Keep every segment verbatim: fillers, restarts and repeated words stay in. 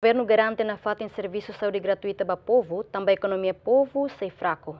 Governu garante nafatin servisu saúde gratuita ba povu, tanba ekonomia povu sei fraku.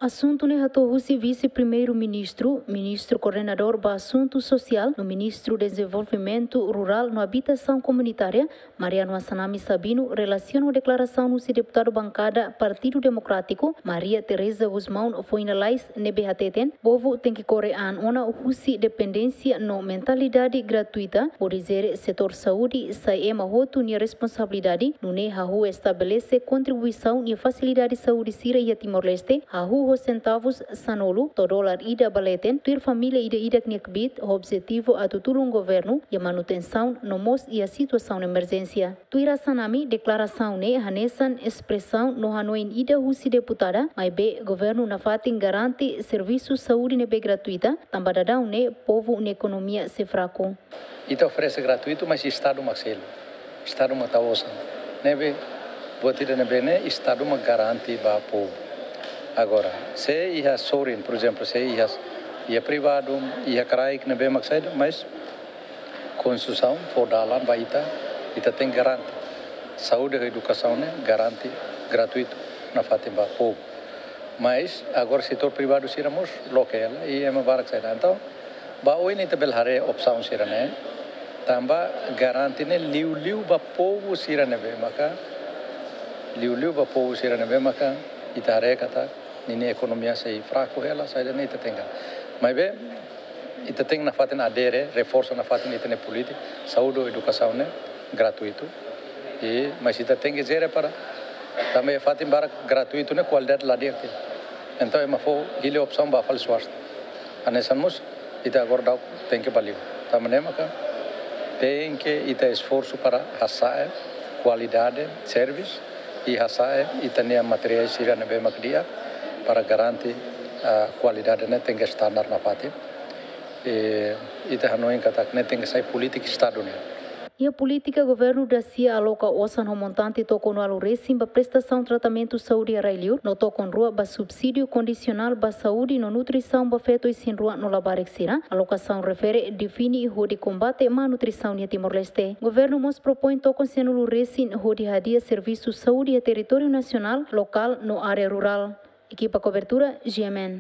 Asuntu ne'e hato'o husi Vise-Primeiru-Ministru, Ministru Koordenadór ba Asuntu Sosiál, no Ministru Dezenvolvimentu Rurál no Abitasaun Komunitária, Mariano Assanami Sabino, relasiona ho deklarasaun husi deputadu bankada Partidu Demokrátiku, Maria Teresa Gusmão, foin lalais, ne'ebé hateten povu tenke kore an ona husi dependénsia no mentalidade gratuita, hodi jere setór saúde sai ema hotu nia responsabilidade, nune'e hahú estabelese kontribuisaun iha fasilidade saúde sira iha Timor-Leste, hahú ho sentavus sanulu to'o dolar ida ba leten, tuir família ida-idak nia kbiit, ho objetivu atu tulun governu iha manutensaun no mós iha situasaun emerjénsia. Tuir Assanami, deklarasaun ne'e hanesan espresaun no hanoin ida husi deputada, maibé governu nafatin garante servisu saúde ne'ebé gratuita, tanba daudaun ne'e povu nia ekonomia sei fraku. Ita oferese gratuitu, mas Estadu mak selu. Estadu mak tau osan. Ne'ebé, buat ida ne'ebé ne'e, Estadu mak garante ba povu. Agora, se iha sorin, por ezemplu, se iha, iha privadu, iha kraik ne'ebé mak saida, mas konstrusaun fó dalan ba ita, ita tenke garante. Saúde ho edukasaun ne'e garante gratuitu nafatin ba povu. Mas agora setór privadu sira mós loke hela, i ema barak saida. Entaun, ba oin ita bele haree opsaun sira-ne'e, tanba garante ne'e liuliu ba povu sira ne'ebé maka, liuliu ba povu sira ne'ebé maka, ita haree katak ninia ekonomia sei fraku hela, saida ne'e ita tenke. Maibé, ita tenke nafatin adere, reforsa nafatin ita-nia polítika, saúde, edukasaun ne'e gratuitu. I, mas ita tenke jere para, tanba iha fatin barak gratuitu ne'e kualidade la di'ak. Entaun, ema fó hili opsaun ba fali swasta. Hanesan mós, ita agora daudaun tenke ba liur. Tanba ne'e maka, tenke ita esforsu para hasa'e kualidade servisu, i hasa'e ita-nia materiál sira ne'ebé mak di'ak, para garante, ah, kualidade ne'e tenke standar nafatin. I ita hanoin katak ne'e tenke sai polítika Estadu nian. Iha polítika, governu dasia aloka osan ho montante tokon ualu resin ba prestasaun tratamentu saúde iha rai-liur, no tokon rua ba subsídiu kondisionál ba saúde no nutrisaun ba feto isin-rua no labarik sira. Alokasaun refere define hodi kombate malnutrisaun iha Timor-Leste. Governu mós propoin tokon sianulu resin hodi hadi'a servisu saúde iha territóriu nasionál, lokál no área rurál. Ekipa kobertura, G M N.